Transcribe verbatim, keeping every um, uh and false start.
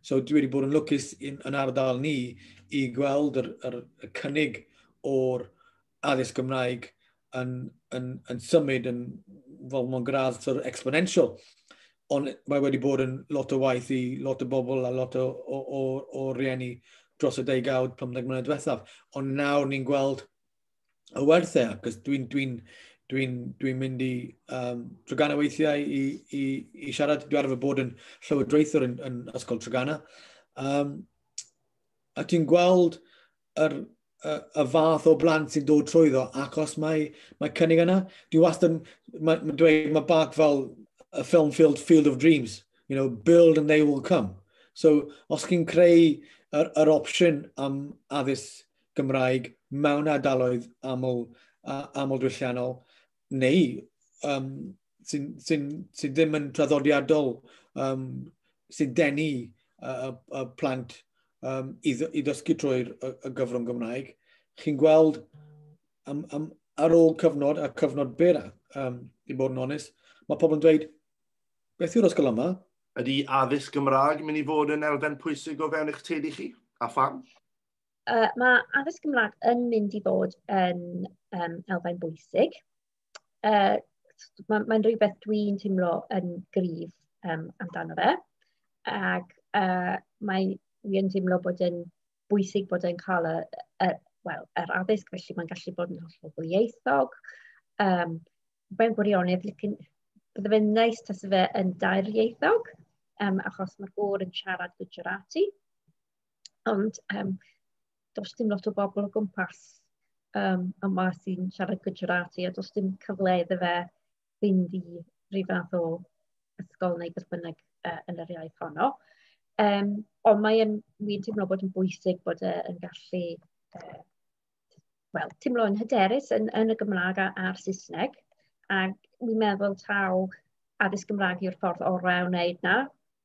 So dwi wedi bod yn lwcus in, yn ardal ni i gweld yr, yr, y cynnig o'r addysg Gymraeg yn, yn, yn symud yn fel mewn gradd sort of exponential. Ond mae wedi bod yn lot o waith i lot o bobl a lot o, o, o, o rieni dros y degawd, pymtheg mlynedd diwethaf. Ond nawr ni'n gweld y werthau, ac dwi'n dwi dwi'n dwi mynd i um, Treganna weithiau i, i, i siarad. Dwi arfer bod yn llywodraethwr yn, yn Ysgol Treganna. Um, a ti'n gweld yr, y, y fath o blant sy'n dod trwyddo achos mae, mae cynnig yna. Dwi wastad yn, mae, mae dweud, mae bach fel y film Field, Field of Dreams, you know, build and they will come. So, os chi'n creu yr, yr opsiwn am addysg Gymraeg mewn ardaloedd aml, aml diwylliannol, neu um, sy'n sy sy ddim yn traddodiadol, um, sy'n denu y, y, y plant um, i, i ddysgu trwy'r y, y gyfrwng Gymraeg, chi'n gweld am, am, ar ôl cyfnod, a cyfnod byr, um, i bod yn onest, mae pobl yn dweud, beth yw'r ysgol yma? Ydy addysg Gymraeg mynd i fod yn elfen pwysig o fewn eich teulu chi? A pham? Uh, mae addysg Gymraeg yn mynd i fod yn um, elfen bwysig. Uh, Mae'n mae rhywbeth dwi'n teimlo yn gryf um, amdano fe. Ac uh, mae wi yn teimlo bod yn bwysig bod yn cael y, y, well, yr addysg, felly mae'n gallu bod yn hollol ddwyieithog. Um, mewn gwirionedd, bydde fe'n neis tase fe yn dairieithog, um, achos mae'r gŵr yn siarad Gujarati. Ond um, does dim lot o bobl o gwmpas um, yma sy'n siarad Gujarati, a does dim cyfle iddo fe fynd i rhyw fath o ysgol neu beth bynnag uh, yn yr iaith honno. Um, ond mae'n, wy'n teimlo bod yn bwysig bod e yn gallu uh, wel, teimlo yn hyderus yn, yn y Gymraeg a'r Saesneg. Ac wy'n meddwl taw addysg Gymraeg yw'r ffordd orau o wneud na.